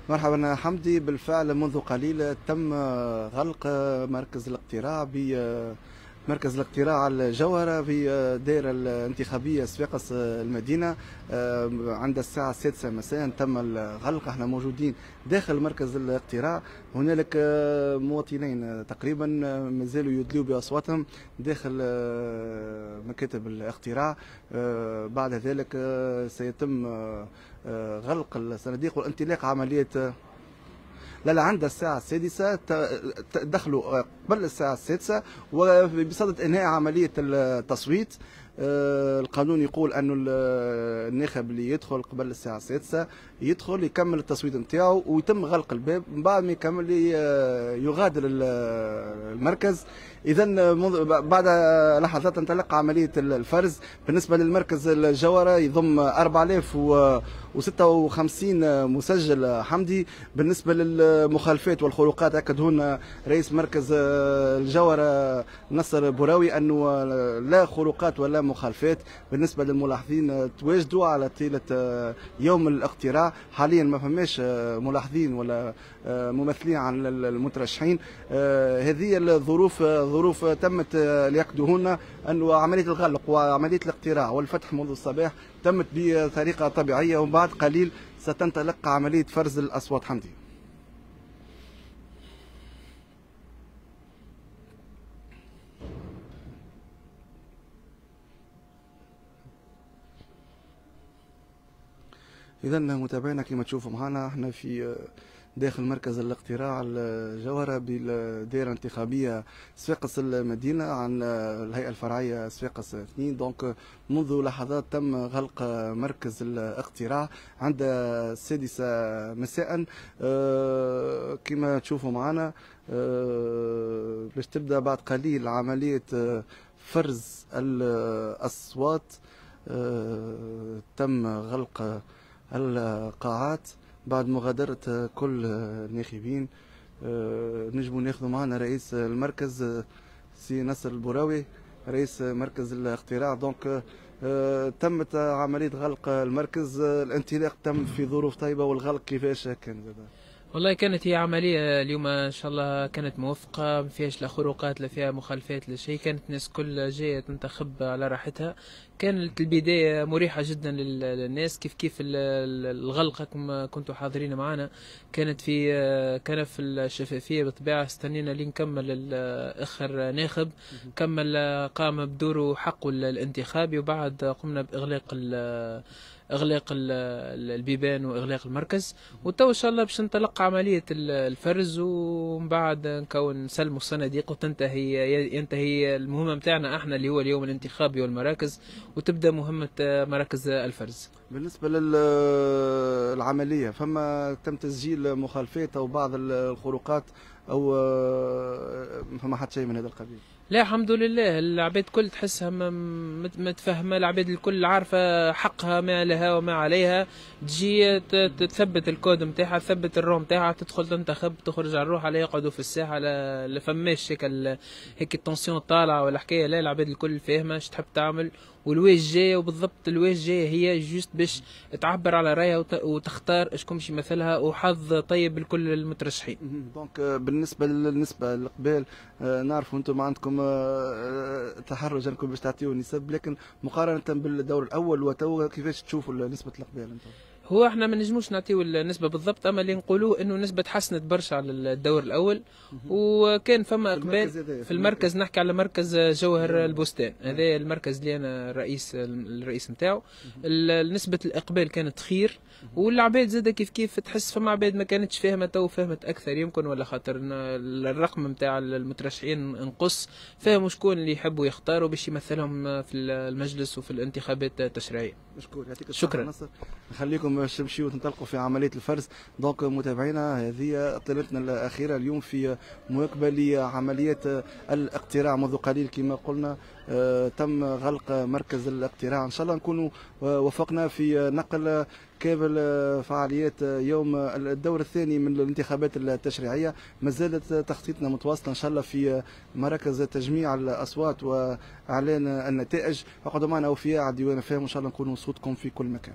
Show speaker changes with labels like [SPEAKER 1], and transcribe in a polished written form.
[SPEAKER 1] مرحبا حمدي، بالفعل منذ قليل تم غلق مركز الاقتراع مركز الاقتراع الجوهرة في الدائرة الانتخابية صفاقس المدينة عند الساعة 6 مساء تم الغلق. احنا موجودين داخل مركز الاقتراع، هنالك مواطنين تقريبا مازالوا يدلوا بأصواتهم داخل مكاتب الاقتراع. بعد ذلك سيتم غلق الصناديق والانطلاق عملية لا عند الساعة 6 دخلوا قبل الساعة 6 وبصدد إنهاء عملية التصويت. القانون يقول أنه الناخب اللي يدخل قبل الساعة 6 يدخل يكمل التصويت نتاعو ويتم غلق الباب، من بعد ما يكمل يغادر المركز. إذا بعد لحظات تنطلق عملية الفرز. بالنسبة للمركز الجوهرة يضم 4056 مسجل حمدي. بالنسبة للمخالفات والخروقات أكد هنا رئيس مركز الجوهرة نصر بوراوي أنه لا خروقات ولا مخالفات. بالنسبة للملاحظين تواجدوا على طيلة يوم الاقتراع، حاليا ما فماش ملاحظين ولا ممثلين عن المترشحين. هذه الظروف ظروف تمت ليقدوهن أن عملية الغلق وعملية الاقتراع والفتح منذ الصباح تمت بطريقة طبيعية، وبعد قليل ستنطلق عملية فرز الأصوات حمدي. إذا متابعينا كما تشوفوا معنا احنا في داخل مركز الاقتراع الجوهرة بالدائرة الانتخابية صفاقس المدينة عن الهيئة الفرعية صفاقس 2. donc منذ لحظات تم غلق مركز الاقتراع عند 6 مساء. كما تشوفوا معنا باش تبدأ بعد قليل عملية فرز الأصوات. تم غلق القاعات بعد مغادرة كل الناخبين. نجموا ناخذوا معنا رئيس المركز سي نصر البوراوي رئيس مركز الاقتراع. donc تمت عملية غلق المركز، الانطلاق تم في ظروف طيبة، والغلق كيفاش كان؟
[SPEAKER 2] والله كانت هي عملية اليوم إن شاء الله كانت موفقة، ما فيهاش لا خروقات لا فيها مخالفات لا شيء، كانت الناس كل جاية تنتخب على راحتها. كانت البداية مريحة جدا للناس، كيف كيف الغلقة كما كنتوا حاضرين معنا كانت في كان في الشفافية بالطبيعة. استنينا لين كمل آخر ناخب، كمل قام بدوره حقه الانتخابي، وبعد قمنا بإغلاق اغلاق البيبان واغلاق المركز. وتو ان شاء الله باش ننطلق عملية الفرز، ومن بعد نكون نسلموا الصناديق وتنتهي ينتهي المهمة نتاعنا احنا اللي هو اليوم الانتخابي والمراكز، وتبدا مهمة مراكز الفرز.
[SPEAKER 1] بالنسبة للعملية فما تم تسجيل مخالفات او بعض الخروقات او فما حتى شيء من هذا القبيل؟
[SPEAKER 2] لا الحمد لله، العباد كل تحسها متفهمه، العباد الكل عارفه حقها ما لها وما عليها. تجي تثبت الكود نتاعها، تثبت ال rang نتاعها، تدخل تنتخب، تخرج على الروح، لا يقعدوا في الساحة لا فماش هيك ال tension طالعه ولا حكاية. لا العباد الكل فاهمه اش تحب تعمل والواش جاية، وبالضبط الواش جاية هي juste باش تعبر على رايها وتختار شكون باش يمثلها، وحظ طيب لكل المترشحين.
[SPEAKER 1] donc بالنسبة للنسبه الاقبال نعرفوا انتم عندكم تحرج انكم باش تعطيو نسب، لكن مقارنة بالدور الاول وتو كيفاش تشوفوا نسبه الاقبال انتم؟
[SPEAKER 2] هو احنا ما نجموش نعطيو النسبة بالضبط، اما اللي نقولوه انه النسبة تحسنت برشا على الدور الاول، وكان فما اقبال في المركز. نحكي على مركز جوهر البستان، هذا المركز اللي انا الرئيس نتاعو. نسبه الاقبال كانت خير، والعباد زاده كيف كيف تحس فما عباد ما كانتش فاهمه تو فهمت اكثر يمكن، ولا خاطر الرقم نتاع المترشحين نقص، فهموا شكون اللي يحبوا يختاروا باش يمثلهم في المجلس وفي الانتخابات التشريعية.
[SPEAKER 1] مشكور، يعطيك الصحة. شكرا نصر، نخليكم باش تمشيو وتنطلقوا في عملية الفرز. donc متابعينا هذه اطلالتنا الاخيرة اليوم في مواكبة لعمليات الاقتراع. منذ قليل كما قلنا تم غلق مركز الاقتراع، ان شاء الله نكونوا وفقنا في نقل كامل فعاليات يوم الدور الثاني من الانتخابات التشريعية. ما زالت تخطيطنا متواصلة ان شاء الله في مراكز تجميع الاصوات واعلان النتائج. اقعدوا معنا اوفياء على ديوان فهم، وان شاء الله نكونوا صوتكم في كل مكان.